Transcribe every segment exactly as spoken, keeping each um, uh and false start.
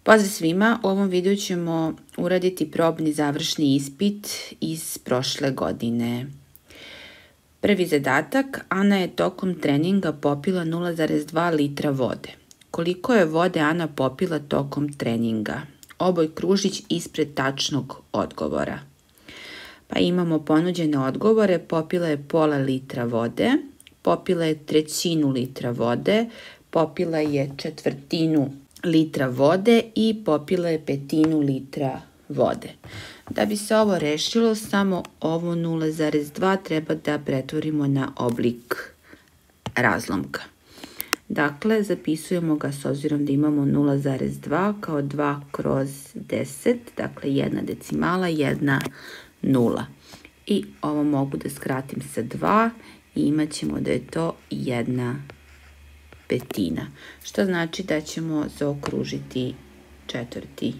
Pozdrav svima, u ovom videu ćemo uraditi probni završni ispit iz prošle godine. Prvi zadatak, Ana je tokom treninga popila nula zarez dva litra vode. Koliko je vode Ana popila tokom treninga? Oboj kružić ispred tačnog odgovora. Pa imamo ponuđene odgovore, popila je pola litra vode, popila je trećinu litra vode, popila je četvrtinu litra vode i popila je petinu litra vode. Da bi se ovo rešilo, samo ovo nula zarez dva treba da pretvorimo na oblik razlomka. Dakle, zapisujemo ga s obzirom da imamo nula zarez dva kao dva kroz deset, dakle jedna decimala, jedna nula. I ovo mogu da skratim sa dva i imat ćemo da je to jedna petina, što znači da ćemo zaokružiti četvrti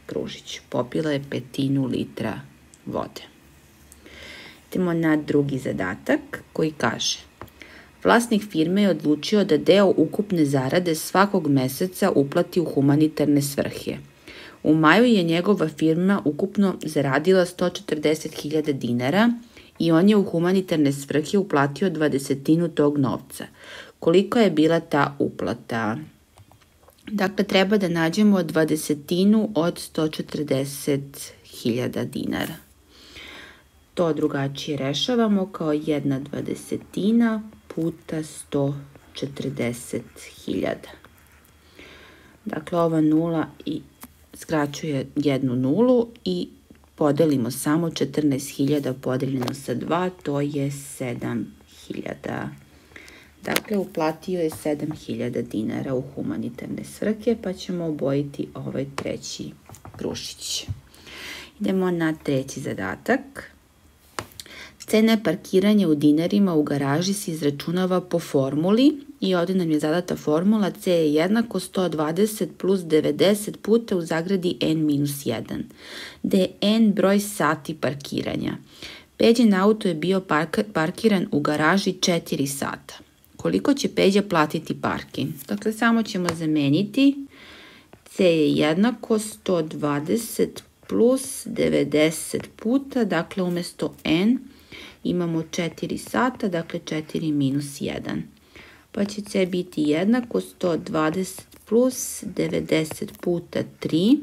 kružić. Popila je petinu litra vode. Idemo na drugi zadatak koji kaže: vlasnik firme je odlučio da deo ukupne zarade svakog meseca uplati u humanitarne svrhe. U maju je njegova firma ukupno zaradila sto četrdeset hiljada dinara i on je u humanitarne svrhe uplatio dvadesetinu tog novca. Koliko je bila ta uplata? Dakle, treba da nađemo dvadesetinu od sto četrdeset hiljada dinara. To drugačije rešavamo kao jedna dvadesetina puta sto četrdeset hiljada. Dakle, ova nula i skraćuje jednu nulu i podelimo samo četrnaest hiljada podeljeno sa dva, to je sedam hiljada. Dakle, uplatio je sedam hiljada dinara u humanitarne svrhe, pa ćemo obojiti ovaj treći kružić. Idemo na treći zadatak. Cena parkiranja u dinarima u garaži se izračunava po formuli i ovdje nam je zadata formula C je jednako sto dvadeset plus devedeset puta u zagradi n minus jedan, gde je n broj sati parkiranja. Peđin auto je bio parkiran u garaži četiri sata. Koliko će Peđa platiti parking? Dakle, samo ćemo zameniti. C je jednako sto dvadeset plus devedeset puta, dakle umjesto n imamo četiri sata, dakle četiri minus jedan. Pa će C biti jednako sto dvadeset plus devedeset puta tri,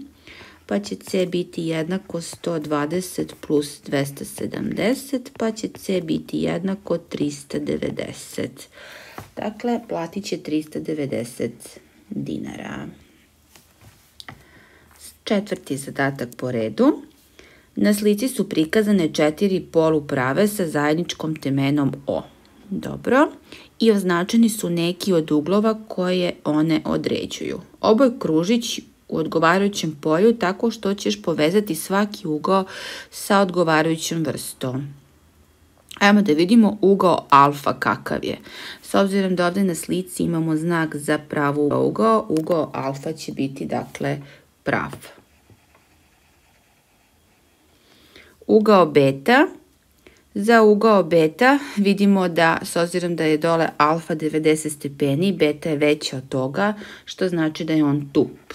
pa će C biti jednako sto dvadeset plus dvesta sedamdeset, pa će C biti jednako trista devedeset. Dakle, platit će trista devedeset dinara. Četvrti zadatak po redu. Na slici su prikazane četiri poluprave sa zajedničkom temenom O. Dobro. I označeni su neki od uglova koje one određuju. Oboj kružić u odgovarajućem polju tako što ćeš povezati svaki ugao sa odgovarajućom vrstom. Ajmo da vidimo ugao alfa kakav je. S obzirom da ovdje na slici imamo znak za pravu ugao, ugao alfa će biti dakle prav. Ugao beta. Za ugao beta vidimo da s obzirom da je dole alfa devedeset stepeni, beta je veća od toga, što znači da je on tup.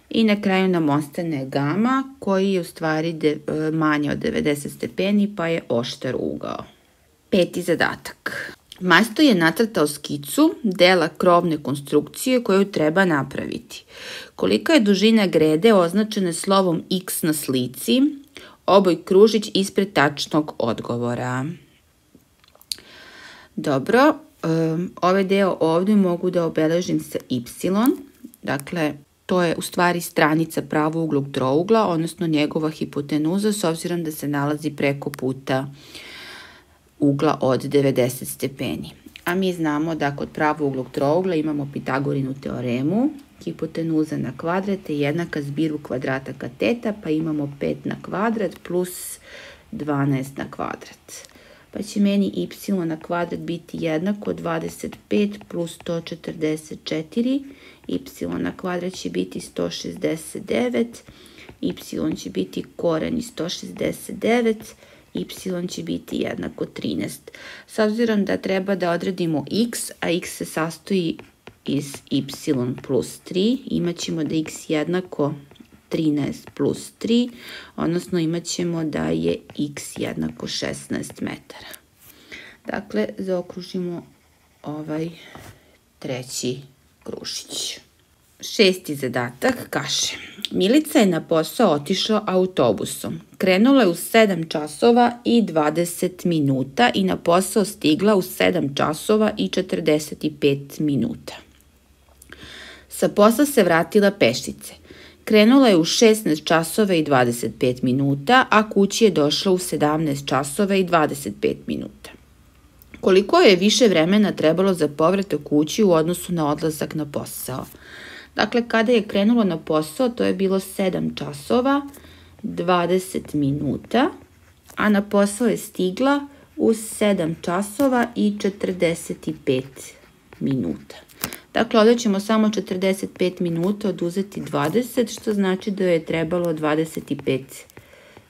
I na kraju nam ostane gama koji je u stvari manje od devedeset stepeni pa je oštar ugao. Peti zadatak. Majstor je nacrtao skicu dela krovne konstrukcije koju treba napraviti. Kolika je dužina grede označena slovom X na slici? Oboj kružić ispred tačnog odgovora. Dobro, ovaj deo ovdje mogu da obeležim sa Y. Dakle, to je u stvari stranica pravouglog trougla, odnosno njegova hipotenuza, s obzirom da se nalazi preko puta ugla od devedeset stepeni. A mi znamo da kod pravouglog trougla imamo Pitagorinu teoremu, hipotenuza na kvadrat je jednaka zbiru kvadrata kateta, pa imamo pet na kvadrat plus dvanaest na kvadrat. Pa će meni y na kvadrat biti jednako dvadeset pet plus sto četrdeset četiri, y na kvadrat će biti sto šezdeset devet, y će biti koren iz sto šezdeset devet, y će biti jednako trinaest. S obzirom da treba da odredimo x, a x se sastoji iz y plus tri, imat ćemo da je x jednako trinaest plus tri, odnosno imat ćemo da je x jednako šesnaest metara. Dakle, zaokružimo ovaj treći kružić. Šesti zadatak kaže: Milica je na posao otišla autobusom. Krenula je u sedam časova i dvadeset minuta i na posao stigla u sedam časova i četrdeset pet minuta. Sa posla se vratila pešice. Krenula je u šesnaest časova i dvadeset pet minuta, a kući je došla u sedamnaest časova i dvadeset pet minuta. Koliko je više vremena trebalo za povratak kući u odnosu na odlazak na posao? Dakle, kada je krenula na posao, to je bilo sedam časova, dvadeset minuta, a na posao je stigla u sedam časova i četrdeset pet minuta. Dakle, ovdje ćemo samo četrdeset pet minuta oduzeti dvadeset, što znači da je trebalo dvadeset pet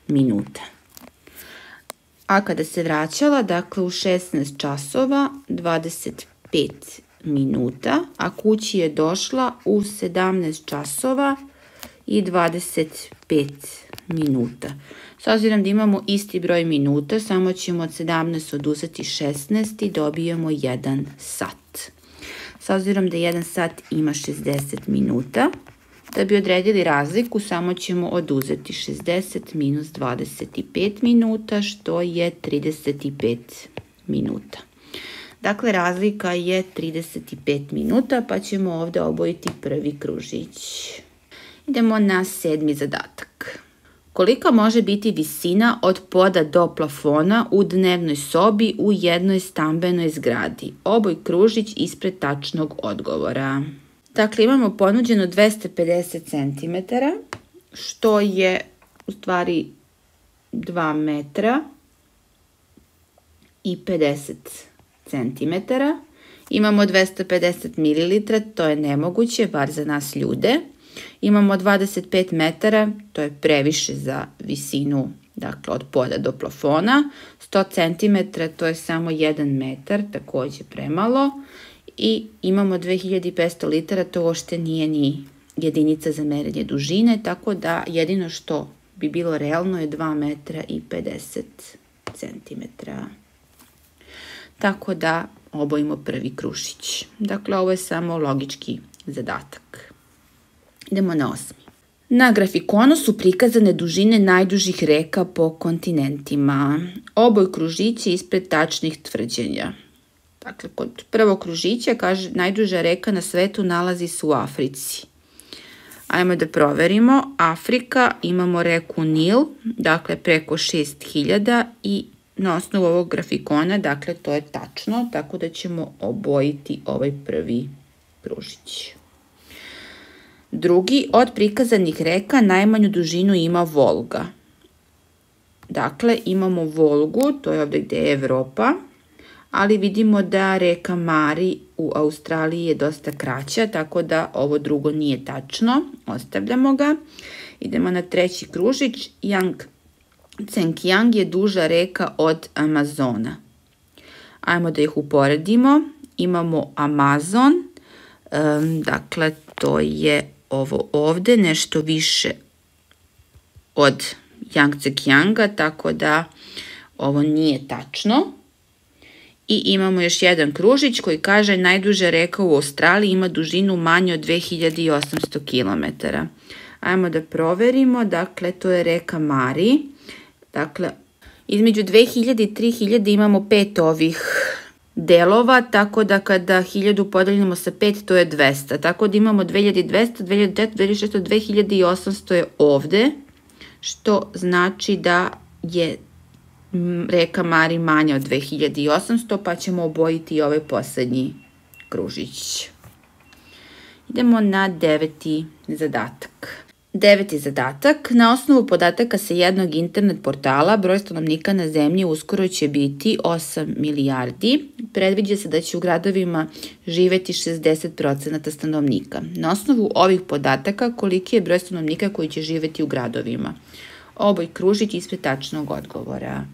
minuta. A kada se vraćala, dakle, u šesnaest časova, dvadeset pet minuta, a kući je došla u sedamnaest časova i dvadeset pet minuta. S obzirom da imamo isti broj minuta, samo ćemo od sedamnaest oduzeti šesnaest i dobijemo jedan sat. S obzirom da jedan sat ima šezdeset minuta, da bi odredili razliku, samo ćemo oduzeti šezdeset minus dvadeset pet minuta, što je trideset pet minuta. Dakle, razlika je trideset pet minuta, pa ćemo ovdje obojiti prvi kružić. Idemo na sedmi zadatak. Kolika može biti visina od poda do plafona u dnevnoj sobi u jednoj stambenoj zgradi? Oboj kružić ispred tačnog odgovora. Dakle, imamo ponuđeno dvesta pedeset centimetara, što je u stvari dva metra i pedeset centimetara. Imamo dvesta pedeset mililitara, to je nemoguće, bar za nas ljude. Imamo dvadeset pet metara, to je previše za visinu, dakle, od poda do plafona. sto centimetara, to je samo jedan metar, također premalo. I imamo dve hiljade petsto litara, to uopšte nije ni jedinica za merenje dužine, tako da jedino što bi bilo realno je dva metra i pedeset centimetara. Tako da obojimo prvi kružić. Dakle, ovo je samo logički zadatak. Idemo na osmi. Na grafikonu su prikazane dužine najdužih reka po kontinentima. Oboj kružića ispred tačnih tvrđenja. Dakle, kod prvog kružića kaže najduža reka na svetu nalazi se u Africi. Ajmo da proverimo. Afrika, imamo reku Nil, dakle preko šest hiljada i na osnovu ovog grafikona, dakle to je tačno, tako da ćemo obojiti ovaj prvi kružić. Drugi, od prikazanih reka najmanju dužinu ima Volga. Dakle, imamo Volgu, to je ovdje gdje je Evropa, ali vidimo da reka Mari u Australiji je dosta kraća, tako da ovo drugo nije tačno, ostavljamo ga. Idemo na treći kružić, Yangtze-Kiang je duža reka od Amazona. Ajmo da ih uporedimo, imamo Amazon, um, dakle to je ovo ovdje, nešto više od Yangtze-Kianga, tako da ovo nije tačno. I imamo još jedan kružić koji kaže najduža reka u Australiji ima dužinu manje od dve hiljade osamsto kilometara. Ajmo da proverimo, dakle to je reka Mari. Dakle, između dve hiljade i tri hiljade imamo pet ovih delova, tako da kada hiljadu podeljimo sa pet, to je dvesta. Tako da imamo dve hiljade dvesta, dve hiljade četiristo, dve hiljade šesto, dve hiljade osamsto je ovde, što znači da je reka Mari manja od dve hiljade osamsto, pa ćemo obojiti i ovaj posljednji kružić. Idemo na deveti zadatak. Deveti zadatak. Na osnovu podataka sa jednog internet portala broj stanovnika na zemlji uskoro će biti osam milijardi. Predviđa se da će u gradovima živeti šezdeset procenata stanovnika. Na osnovu ovih podataka koliki je broj stanovnika koji će živeti u gradovima? Oboj kružić ispred tačnog odgovora.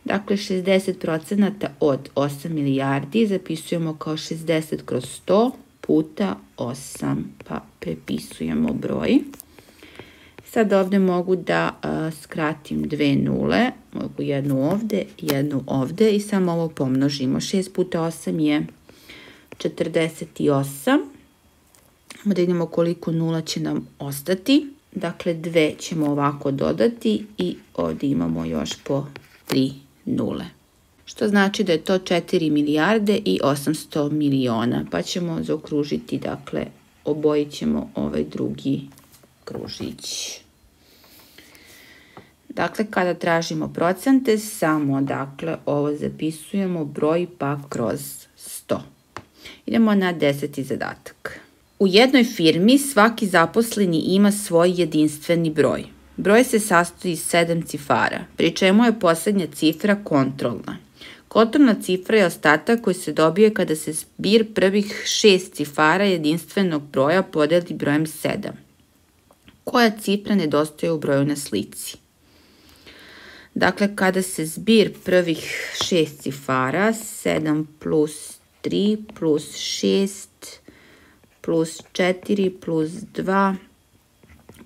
Dakle, šezdeset procenata od osam milijardi zapisujemo kao šezdeset kroz sto puta osam, pa prepisujemo broj. Sad ovde mogu da a, skratim dve nule, mogu jednu ovde, jednu ovde i samo ovo pomnožimo. šest puta osam je četrdeset osam. Da vidimo koliko nula će nam ostati. Dakle, dve ćemo ovako dodati i ovde imamo još po tri nule. Što znači da je to četiri milijarde i osamsto miliona. Pa ćemo zaokružiti, dakle, obojit ćemo ovaj drugi kružić. Dakle, kada tražimo procente, samo, dakle, ovo zapisujemo broj pa kroz sto. Idemo na deseti zadatak. U jednoj firmi svaki zaposleni ima svoj jedinstveni broj. Broj se sastoji iz sedam cifara, pri čemu je poslednja cifra kontrolna. Kontrolna cifra je ostatak koji se dobije kada se zbir prvih šest cifara jedinstvenog broja podeli brojem sedam. Koja cifra nedostaje u broju na slici? Dakle, kada se zbir prvih šest cifara, sedam plus tri plus šest plus četiri plus dva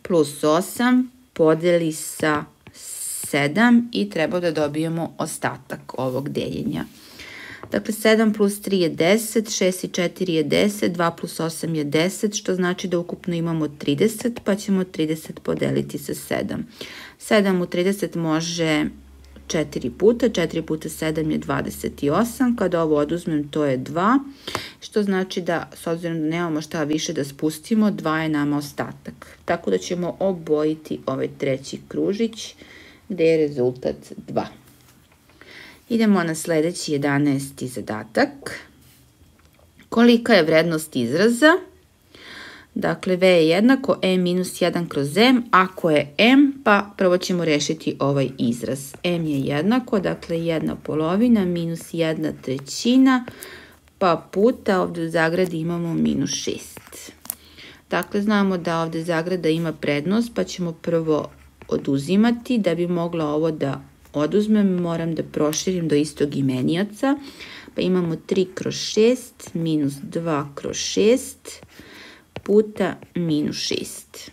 plus osam podeli sa sedam i treba da dobijemo ostatak ovog deljenja. Dakle, sedam plus tri je deset, šest i četiri je deset, dva plus osam je deset, što znači da ukupno imamo trideset, pa ćemo trideset podeliti sa sedam. sedam u trideset može četiri puta, četiri puta sedam je dvadeset osam, kada ovo oduzmem to je dva, što znači da, s obzirom da nemamo šta više da spustimo, dva je nama ostatak. Tako da ćemo obojiti ovaj treći kružić, gde je rezultat dva. Idemo na sledeći jedanaesti zadatak. Kolika je vrednost izraza? Dakle, V je jednako E minus jedan kroz M. Ako je M, pa prvo ćemo rešiti ovaj izraz. M je jednako, dakle, jedna polovina minus jedna trećina, pa puta ovde u zagradi imamo minus šest. Dakle, znamo da ovde zagrada ima prednost, pa ćemo prvo oduzimati. Da bi mogla ovo da oduzmem, moram da proširim do istog imenioca. Pa imamo tri kroz šest minus dva kroz šest puta minus šest.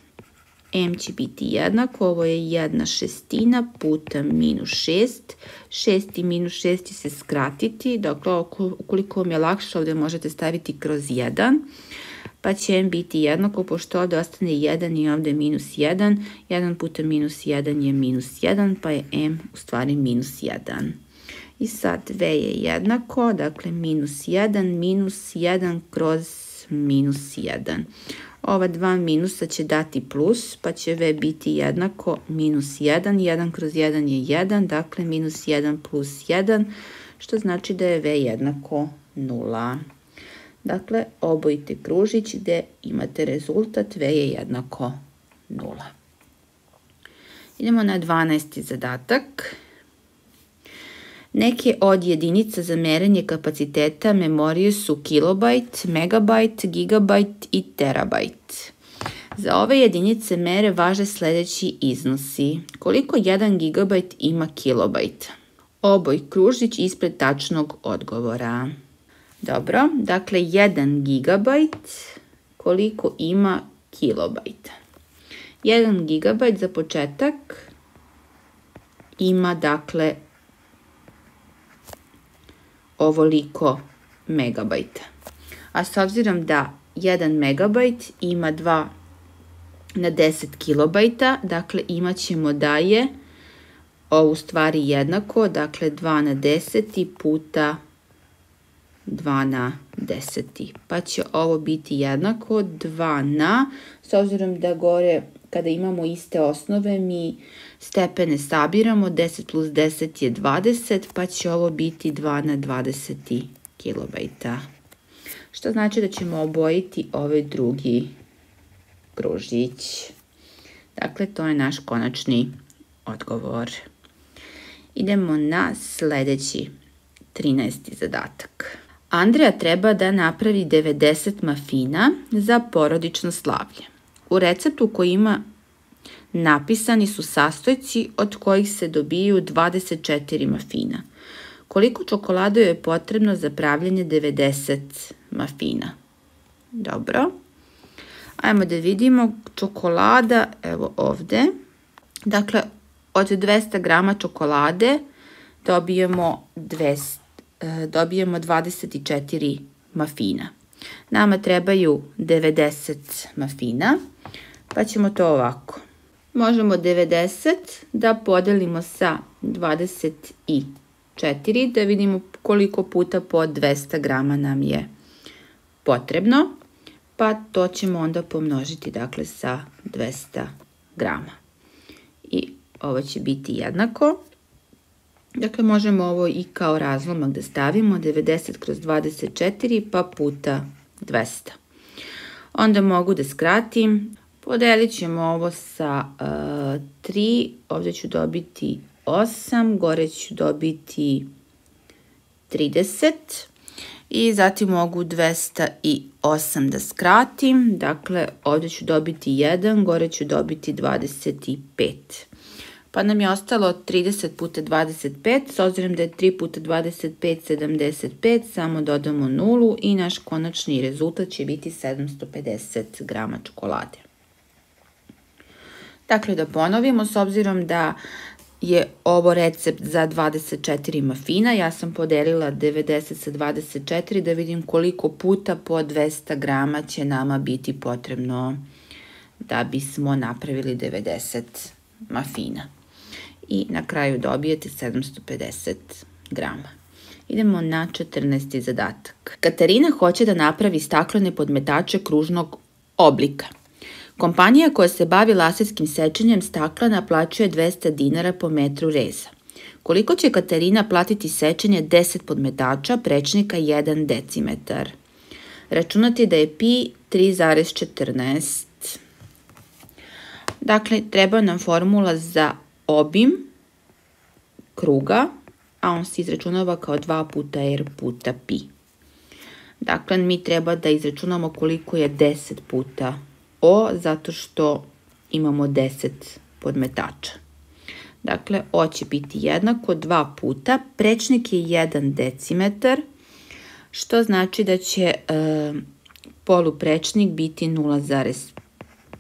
M će biti jednako, ovo je jedna šestina puta minus šest. šest i minus šest će se skratiti, dakle, ukoliko vam je lakše, ovde možete staviti kroz jedan. Pa će M biti jednako, pošto ovde ostane jedan i ovde minus jedan. jedan puta minus jedan je minus jedan, pa je M u stvari minus jedan. I sad V je jednako, dakle minus jedan minus jedan kroz minus jedan. Ova dva minusa će dati plus, pa će V biti jednako minus jedan. jedan kroz jedan je jedan, dakle minus jedan plus jedan, što znači da je V jednako nula. Dakle, obojite kružić gde imate rezultat V je jednako nula. Idemo na dvanaesti zadatak. Neke od jedinica za merenje kapaciteta memorije su kilobajt, megabajt, gigabajt i terabajt. Za ove jedinice mere važe sledeći iznosi. Koliko jedan gigabajt ima kilobajt? Oboj kružić ispred tačnog odgovora. Dobro, dakle jedan gigabajt koliko ima kilobajta. jedan gigabajt za početak ima, dakle, ovoliko megabajta. A s obzirom da jedan megabajt ima dva na deset kilobajta, dakle imat ćemo da je ovo u stvari jednako, dakle dva na deset puta dva na deset. Pa će ovo biti jednako dva na, s obzirom da gore kada imamo iste osnove mi stepene sabiramo, deset plus deset je dvadeset, pa će ovo biti dva na dvadeset kilobajta. Što znači da ćemo obojiti ovaj drugi kružić. Dakle, to je naš konačni odgovor. Idemo na sledeći trinaesti zadatak. Andreja treba da napravi devedeset mafina za porodično slavlje. U receptu koji ima napisani su sastojci od kojih se dobiju dvadeset četiri mafina. Koliko čokolade je potrebno za pravljanje devedeset mafina? Dobro. Ajmo da vidimo čokolada, evo ovde. Dakle, od dvesta grama čokolade dobijemo, dvesta, dobijemo dvadeset četiri mafina. Nama trebaju devedeset mafina, pa ćemo to ovako. Možemo devedeset da podelimo sa dvadeset četiri, da vidimo koliko puta po dvesta grama nam je potrebno, pa to ćemo onda pomnožiti, dakle, sa dvesta grama. I ovo će biti jednako. Dakle, možemo ovo i kao razlomak da stavimo, devedeset kroz dvadeset četiri, pa puta dvesta. Onda mogu da skratim, podelit ćemo ovo sa uh, tri, ovdje ću dobiti osam, gore ću dobiti trideset i zatim mogu dvesta osam da skratim, dakle ovdje ću dobiti jedan, gore ću dobiti dvadeset pet. Pa nam je ostalo trideset puta dvadeset pet, s obzirom da je tri puta dvadeset pet sedamdeset pet, samo dodamo nulu i naš konačni rezultat će biti sedamsto pedeset grama čokolade. Dakle, da ponovimo, s obzirom da je ovo recept za dvadeset četiri mafina, ja sam podelila devedeset sa dvadeset četiri da vidim koliko puta po dvesta grama će nama biti potrebno da bismo napravili devedeset mafina. I na kraju dobijete sedamsto pedeset grama. Idemo na četrnaesti zadatak. Katarina hoće da napravi staklene podmetače kružnog oblika. Kompanija koja se bavi laserskim sečenjem stakla naplaćuje dvesta dinara po metru reza. Koliko će Katarina platiti sečenje deset podmetača prečnika jedan decimetar? Računati da je pi tri zarez četrnaest. Dakle, treba nam formula za obim kruga, a on se izračunava kao dva puta r puta pi. Dakle, mi treba da izračunamo koliko je deset puta o, zato što imamo deset podmetača. Dakle, o će biti jednako dva puta, prečnik je jedan decimetar, što znači da će e, poluprečnik biti nula zarez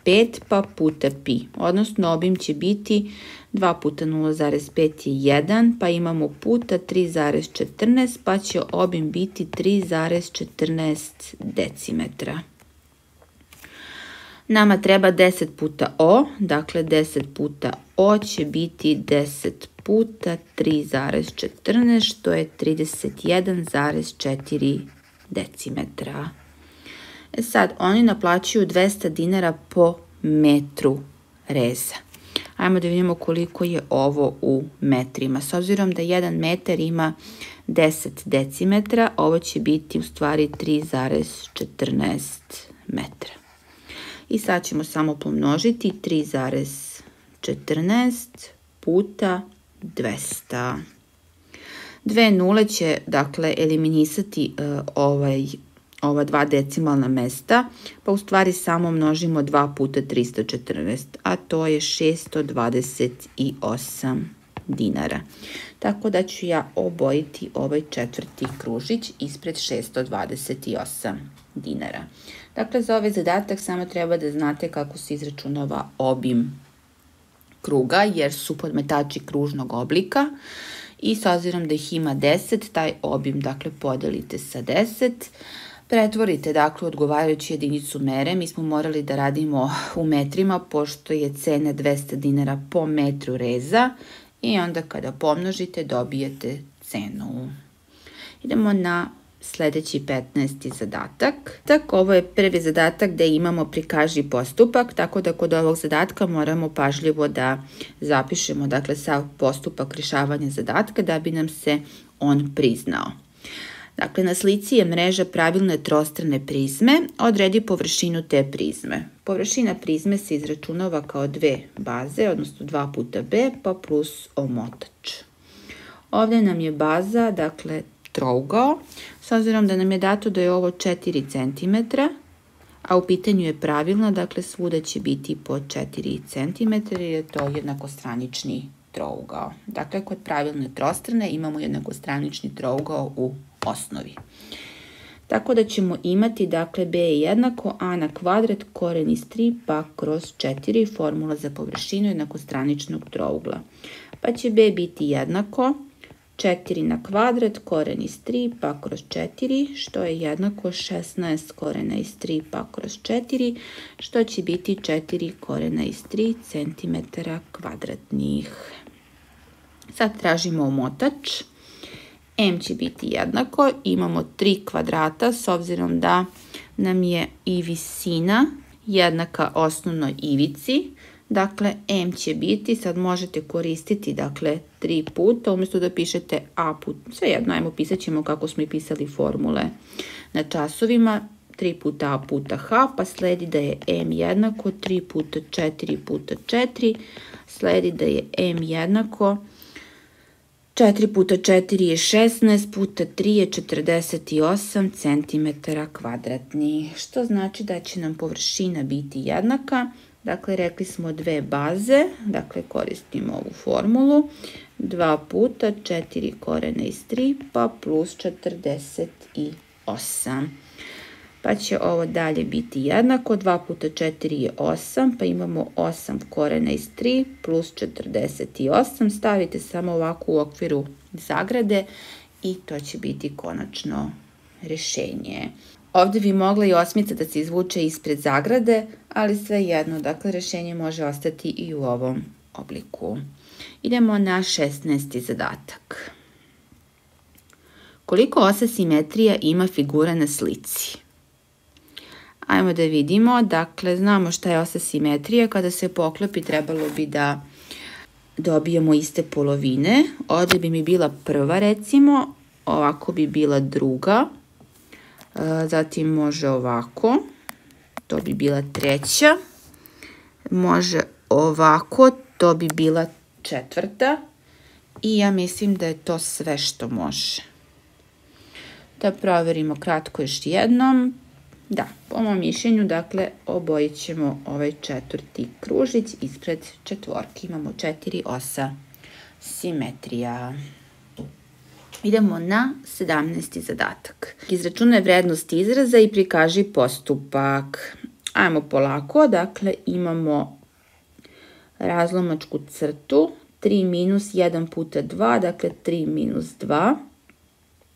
pet pa puta pi, odnosno obim će biti dva puta nula zarez pet je jedan, pa imamo puta tri zarez četrnaest, pa će obim biti tri zarez četrnaest decimetra. Nama treba deset puta o, dakle deset puta o će biti deset puta tri zarez četrnaest, što je trideset jedan zarez četiri decimetra. E sad, oni naplaćuju dvesta dinara po metru reza. Ajmo da vidimo koliko je ovo u metrima. S obzirom da jedan metar ima deset decimetra, ovo će biti u stvari tri zarez četrnaest metra. I sad ćemo samo pomnožiti tri zarez četrnaest puta dvesta. Dve nule će, dakle, eliminisati uh, ovaj, ova dva decimalna mesta, pa u stvari samo množimo dva puta tristo četrnaest, a to je šesto dvadeset osam dinara. Tako da ću ja obojiti ovaj četvrti kružić ispred šesto dvadeset osam dinara. Dakle, za ovaj zadatak samo treba da znate kako se izračunava obim kruga, jer su podmetači kružnog oblika i s obzirom da ih ima deset, taj obim, dakle, podelite sa deset, pretvorite, dakle, odgovarajući jedinicu mere. Mi smo morali da radimo u metrima, pošto je cena dvesta dinara po metru reza i onda kada pomnožite dobijete cenu. Idemo na sljedeći petnaesti zadatak. Tako, ovo je prvi zadatak gde imamo prikaži postupak, tako da kod ovog zadatka moramo pažljivo da zapišemo, dakle, sav postupak rješavanja zadatka da bi nam se on priznao. Dakle, na slici je mreža pravilne trostrane prizme, odredi površinu te prizme. Površina prizme se izračunava kao dve baze, odnosno dva puta b, pa plus omotač. Ovdje nam je baza, dakle, trougao, s obzirom da nam je dato da je ovo četiri centimetra, a u pitanju je pravilno, dakle, svuda će biti po četiri centimetra jer je to jednakostranični trougao. Dakle, kod pravilne trostrane imamo jednakostranični trougao u osnovi. Tako da ćemo imati, dakle, b je jednako a na kvadrat koren iz tri pa kroz četiri, formula za površinu jednakostraničnog trougla. Pa će b biti jednako četiri na kvadrat koren iz tri pa kroz četiri, što je jednako šesnaest korena iz tri pa kroz četiri, što će biti četiri korena iz tri centimetara kvadratnih. Sad tražimo omotač. M će biti jednako, imamo tri kvadrata s obzirom da nam je i visina jednaka osnovnoj ivici. Dakle, M će biti, sad možete koristiti, dakle, tri puta, umjesto da pišete A put, svejedno, ajmo pisat ćemo kako smo i pisali formule na časovima, tri puta A puta H, pa sledi da je M jednako tri puta četiri puta četiri, sledi da je M jednako četiri puta četiri je šesnaest, puta tri je četrdeset osam centimetara kvadratnih, što znači da će nam površina biti jednaka. Dakle, rekli smo dve baze, dakle koristimo ovu formulu, dva puta četiri korena iz tri pa plus četrdeset osam. Pa će ovo dalje biti jednako, dva puta četiri je osam, pa imamo osam korena iz tri plus četrdeset osam, stavite samo ovako u okviru zagrade i to će biti konačno rešenje. Ovdje bi mogla i osmica da se izvuče ispred zagrade, ali svejedno, dakle, rešenje može ostati i u ovom obliku. Idemo na šesnaesti zadatak. Koliko osa simetrija ima figura na slici? Ajmo da vidimo, dakle, znamo šta je osa simetrija, kada se poklopi trebalo bi da dobijemo iste polovine. Ovdje bi mi bila prva, recimo, ovako bi bila druga, zatim može ovako, to bi bila treća, može ovako, to bi bila četvrta i ja mislim da je to sve što može. Da provjerimo kratko još jednom. Da, po mom mišljenju, dakle, obojit ćemo ovaj četvrti kružić ispred četvorki. Imamo četiri osa simetrija. Idemo na sedamnaesti zadatak. Izračunaj vrednost izraza i prikaži postupak. Ajmo polako, dakle, imamo razlomačku crtu, tri minus jedan puta dva, dakle tri minus dva.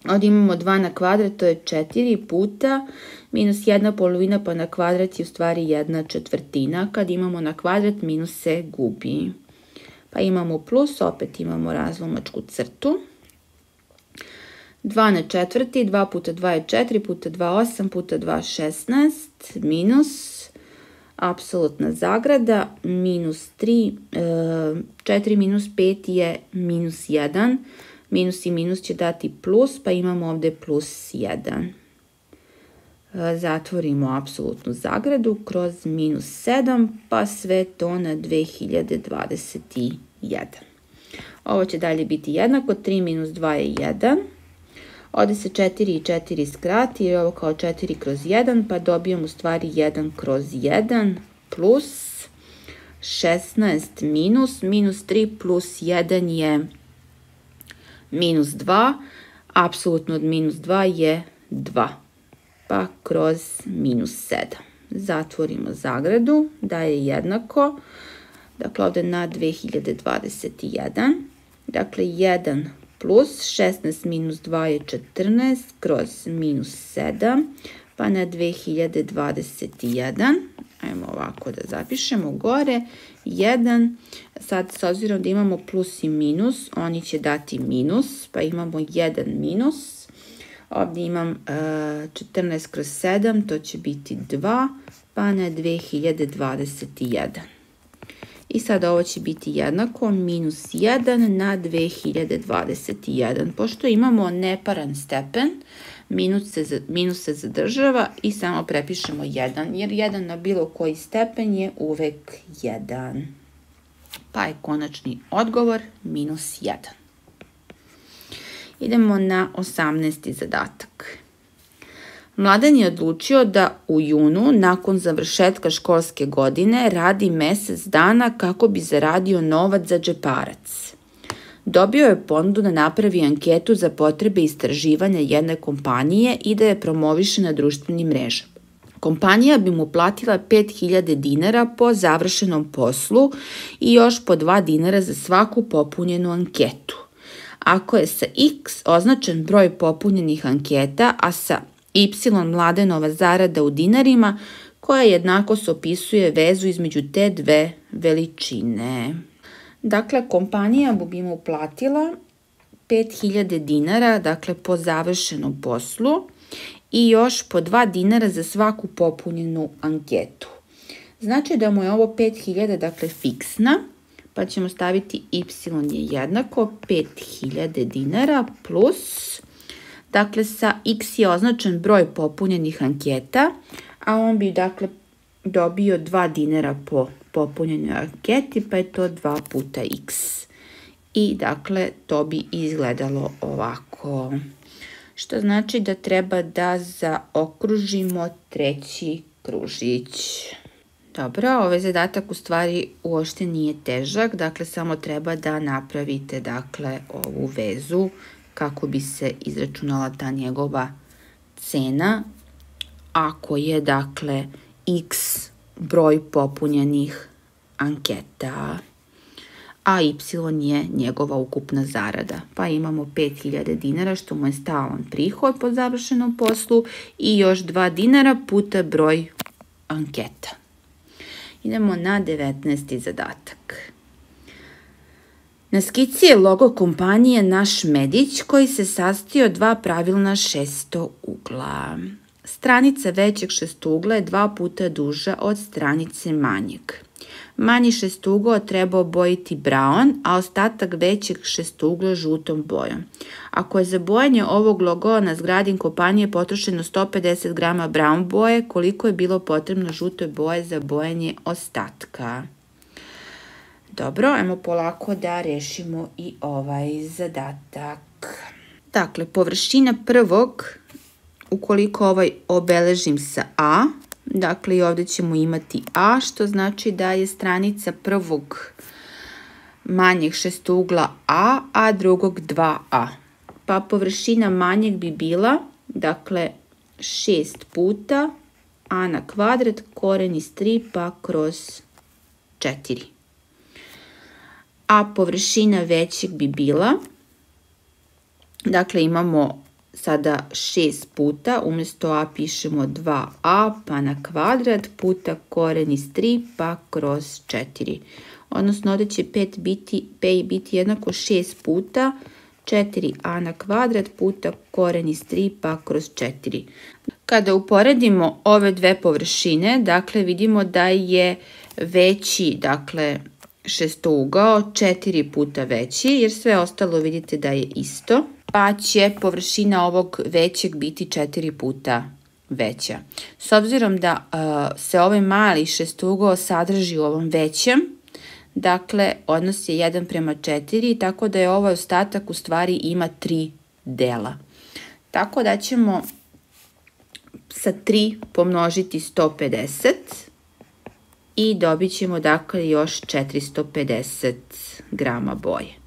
Ovdje imamo dva na kvadrat, to je četiri puta, minus jedna polovina pa na kvadrat je u stvari jedna četvrtina. Kad imamo na kvadrat, minus se gubi. Pa imamo plus, opet imamo razlomačku crtu. dva na četvrti, dva puta dva je četiri, puta dva osam, puta dva šesnaest, minus, apsolutna zagrada, minus tri, četiri minus pet je minus jedan, minus i minus će dati plus, pa imamo ovdje plus jedan. Zatvorimo apsolutnu zagradu kroz minus sedam, pa sve to na dve hiljade dvadeset jedan. Ovo će dalje biti jednako, tri minus dva je jedan. Ovdje se četiri i četiri skrati, jer je ovo kao četiri kroz jedan, pa dobijamo u stvari jedan kroz jedan plus šesnaest minus, minus tri plus jedan je minus dva, apsolutno od minus dva je dva, pa kroz minus sedam. Zatvorimo zagradu, da je jednako, dakle ovdje na dve hiljade dvadeset jedan, dakle jedan plus šesnaest minus dva je četrnaest kroz minus sedam, pa na dve hiljade dvadeset jedan, ajmo ovako da zapišemo gore, jedan, sad s obzirom da imamo plus i minus, oni će dati minus, pa imamo jedan minus, ovdje imam četrnaest kroz sedam, to će biti dva, pa na dve hiljade dvadeset jedan. I sad ovo će biti jednako minus jedan na dve hiljade dvadeset jedan. Pošto imamo neparan stepen, minus se, minus se zadržava i samo prepišemo jedan, jer jedan na bilo koji stepen je uvek jedan. Pa je konačni odgovor minus jedan. Idemo na osamnaesti zadatak. Mladen je odlučio da u junu, nakon završetka školske godine, radi mesec dana kako bi zaradio novac za džeparac. Dobio je ponudu da napravi anketu za potrebe istraživanja jedne kompanije i da je promoviše na društvenim mrežama. Kompanija bi mu platila pet hiljada dinara po završenom poslu i još po dva dinara za svaku popunjenu anketu. Ako je sa X označen broj popunjenih anketa, a sa Y Mladenova zarada u dinarima, koja jednako se opisuje vezu između te dve veličine. Dakle, kompanija bi mu platila pet hiljada dinara, dakle po završenom poslu, i još po dva dinara za svaku popunjenu anketu. Znači da mu je ovo pet hiljada, dakle fiksna, pa ćemo staviti Y je jednako pet hiljada dinara plus, dakle sa X je označen broj popunjenih anketa, a on bi dakle dobio dva dinara po popunjenoj anketi, pa je to dva puta X. I dakle to bi izgledalo ovako. Što znači da treba da zaokružimo treći kružić. Dobro, ovaj zadatak u stvari uopšte nije težak, dakle samo treba da napravite dakle ovu vezu kako bi se izračunala ta njegova cena, ako je dakle X broj popunjenih anketa, a Y je njegova ukupna zarada. Pa imamo pet hiljada dinara što mu je stalan prihod po završenom poslu i još dva dinara puta broj anketa. Idemo na devetnaesti zadatak. Na skici je logo kompanije Naš Medić koji se sastoji od dva pravilna šestougla. Stranica većeg šestougla je dva puta duža od stranice manjeg. Manji šestougao treba obojiti brown, a ostatak većeg šestougla žutom bojom. Ako je za bojanje ovog logoa na zgradi kompanije potrošeno sto pedeset grama brown boje, koliko je bilo potrebno žute boje za bojanje ostatka? Dobro, ajmo polako da rešimo i ovaj zadatak. Dakle, površina prvog, ukoliko ovaj obeležim sa A, dakle i ovdje ćemo imati A, što znači da je stranica prvog manjeg šestougla A, a drugog dva A. Pa površina manjeg bi bila, dakle, šest puta A na kvadrat, koren iz tri pa kroz četiri. A površina većeg bi bila, dakle imamo sada šest puta, umjesto A pišemo dva A pa na kvadrat puta koren iz tri pa kroz četiri. Odnosno ovdje će pet biti, P biti jednako šest puta četiri A na kvadrat puta koren iz tri pa kroz četiri. Kada uporedimo ove dve površine, dakle vidimo da je veći, dakle šestougao četiri puta veći, jer sve ostalo vidite da je isto, pa će površina ovog većeg biti četiri puta veća. S obzirom da uh, se ovaj mali šestougao sadrži u ovom većem, dakle odnos je jedan prema četiri, tako da je ovaj ostatak u stvari ima tri dela. Tako da ćemo sa tri pomnožiti sto pedeset i dobit ćemo dakle još četiristo pedeset grama boje.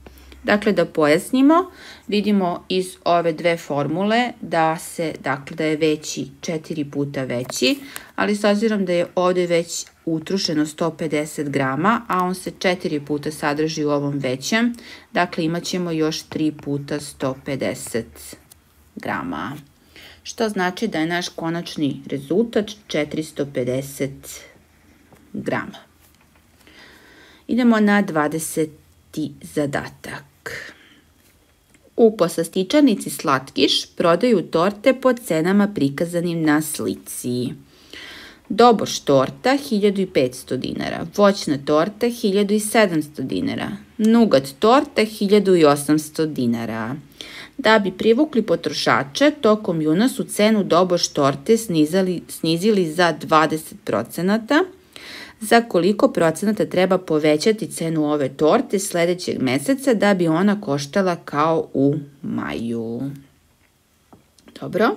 Dakle, da pojasnimo, vidimo iz ove dve formule da se, dakle, da je veći četiri puta veći, ali s obzirom da je ovdje već utrošeno sto pedeset grama, a on se četiri puta sadrži u ovom većem, dakle imat ćemo još tri puta sto pedeset grama. Što znači da je naš konačni rezultat četiristo pedeset grama. Idemo na dvadeseti zadatak. U poslastičarnici Slatkiš prodaju torte po cenama prikazanim na slici. Doboš torta hiljadu petsto dinara, voćna torta hiljadu sedamsto dinara, nugat torta hiljadu osamsto dinara. Da bi privukli potrošače, tokom juna su cenu doboš torte snizali, snizili za dvadeset procenata. Za koliko procenata treba povećati cenu ove torte sljedećeg meseca da bi ona koštala kao u maju? Dobro.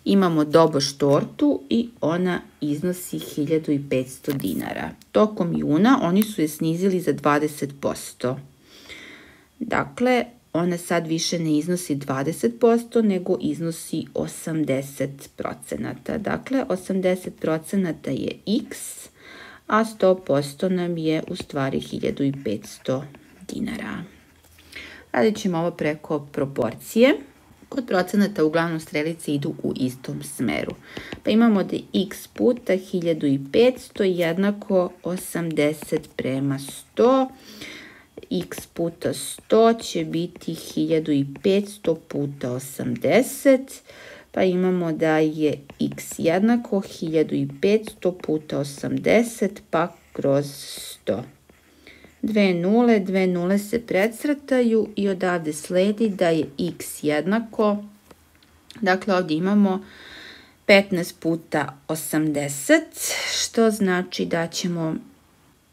Imamo doboš tortu i ona iznosi hiljadu petsto dinara. Tokom juna oni su je snizili za dvadeset posto. Dakle, ona sad više ne iznosi dvadeset posto, nego iznosi osamdeset procenata. Dakle, osamdeset procenata je x, a sto posto nam je u stvari hiljadu i petsto dinara. Radit ćemo ovo preko proporcije. Kod procenata uglavnom strelice idu u istom smeru. Pa imamo da je x puta hiljadu i petsto jednako osamdeset prema sto. X puta sto će biti hiljadu i petsto puta osamdeset. Pa imamo da je x jednako hiljadu i petsto puta osamdeset pa kroz sto. Dve nule, dve nule se precrtaju i odavde sledi da je x jednako, dakle ovdje imamo petnaest puta osamdeset, što znači da ćemo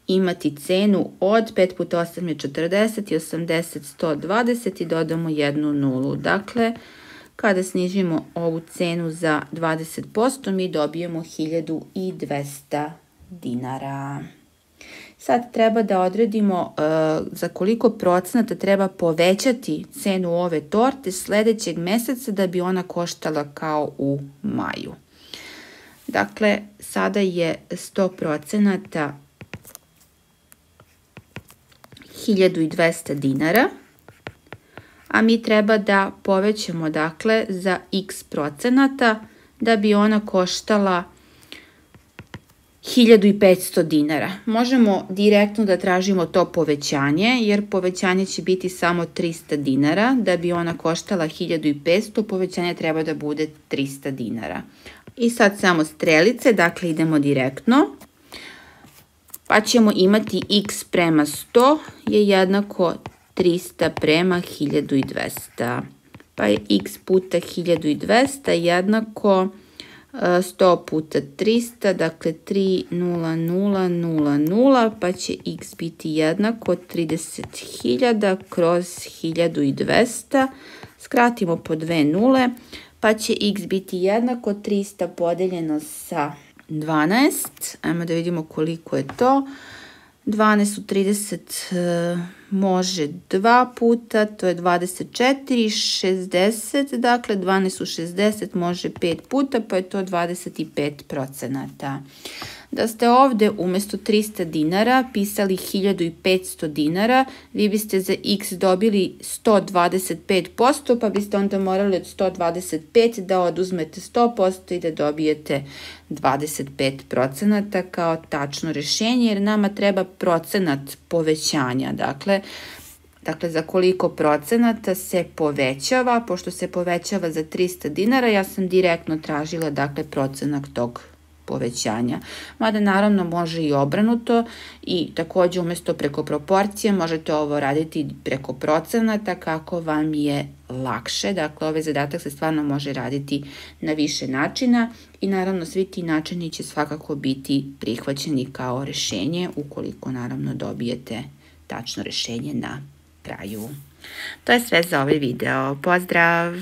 imati cenu od pet puta osam je četrdeset i osamdeset sto dvadeset i dodamo jednu nulu. Dakle, kada snižimo ovu cenu za dvadeset posto mi dobijemo hiljadu i dvesta dinara. Sad treba da odredimo uh, za koliko procenata treba povećati cenu ove torte sljedećeg meseca da bi ona koštala kao u maju. Dakle, sada je sto procenata hiljadu i dvesta dinara, a mi treba da povećamo dakle za x procenata da bi ona koštala hiljadu i petsto dinara. Možemo direktno da tražimo to povećanje, jer povećanje će biti samo trista dinara. Da bi ona koštala hiljadu i petsto, povećanje treba da bude trista dinara. I sad samo strelice, dakle idemo direktno. Pa ćemo imati x prema sto je jednako trista prema hiljadu i dvesta. Pa je x puta hiljadu i dvesta jednako sto puta trista, dakle tri nula nula nula nula, pa će x biti jednako trideset hiljada kroz hiljadu i dvesta. Skratimo po dve nule, pa će x biti jednako trista podeljeno sa dvanaest. Ajmo da vidimo koliko je to. dvanaest u trideset može dva puta, to je dvadeset četiri, šezdeset, dakle dvanaest u šezdeset može pet puta, pa je to dvadeset pet procenata. Da ste ovdje umjesto trista dinara pisali hiljadu i petsto dinara, vi biste za x dobili sto dvadeset pet posto, pa biste onda morali od sto dvadeset pet da oduzmete sto posto i da dobijete dvadeset pet procenata kao tačno rješenje, jer nama treba procenat povećanja. Dakle, dakle za koliko procenata se povećava, pošto se povećava za trista dinara, ja sam direktno tražila dakle procenat tog povećanja. Mada naravno može i obrnuto i također umjesto preko proporcije možete ovo raditi preko procenata kako vam je lakše. Dakle, ovaj zadatak se stvarno može raditi na više načina i naravno svi ti načini će svakako biti prihvaćeni kao rješenje ukoliko naravno dobijete tačno rješenje na kraju. To je sve za ovaj video. Pozdrav!